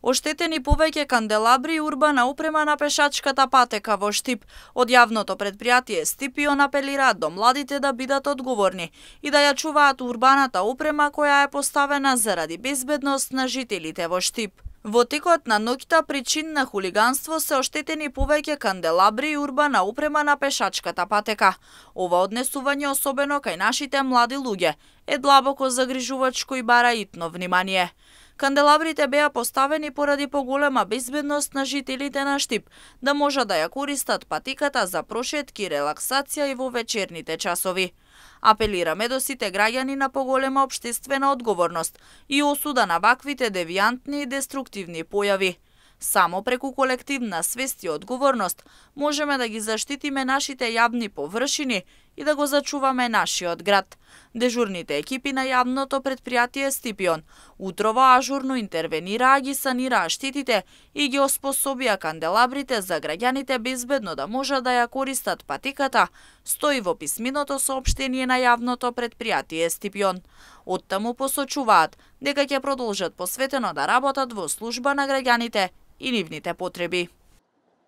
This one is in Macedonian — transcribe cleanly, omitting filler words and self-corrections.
Оштетени повеќе канделабри и урбана опрема на пешачката патека во Штип. Од јавното предпријатие Стипион апелираат до младите да бидат одговорни и да ја чуваат урбаната опрема која е поставена заради безбедност на жителите во Штип. Во текот на ноќта причин на хулиганство се оштетени повеќе канделабри и урбана опрема на пешачката патека. Ова однесување, особено кај нашите млади луѓе, е длабоко загрижувачко и бара итно внимание. Канделабрите беа поставени поради поголема безбедност на жителите на Штип, да можат да ја користат патиката за прошетки и релаксација и во вечерните часови. Апелираме до сите граѓани на поголема општествена одговорност и осуда на ваквите девијантни и деструктивни појави. Само преку колективна свест и одговорност можеме да ги заштитиме нашите јавни површини и да го зачуваме нашиот град. Дежурните екипи на јавното предпријатие Стипион утрово ажурно интервенираа, ги санираа штетите и ги оспособија канделабрите за граѓаните безбедно да можат да ја користат патиката, стои во писменото соопштение на јавното предпријатие Стипион. Оттаму посочуваат дека ќе продолжат посветено да работат во служба на граѓаните и нивните потреби.